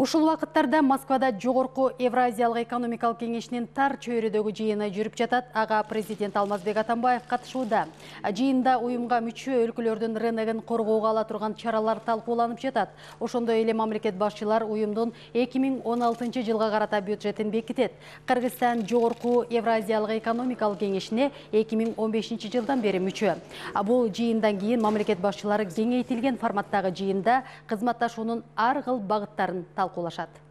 Ушул вакыттарда Москвада жогорку Евразиялык экономикалык кеңешинин тар чөйрөдөгү жыйыны жүрүп жатат. Ага президент Алмазбек Атамбаев катышууда. Жыйында уюмга мүчө өлкөлөрдүн рыногун коргоого ала турган чаралар талкууланып жатат. Ошондой эле мамлекет башчылар уюмдун 2016 жылга карата бюджетин бекитет. Кыргызстан жогорку Евразиялык экономикалык кеңешине 2015 жылдан бери мүчө. Бул жыйындан кийин мамлекет башчылары кеңейтилген форматтагы жыйында кызматташуунун ар кыл багыттарын талкуулашат.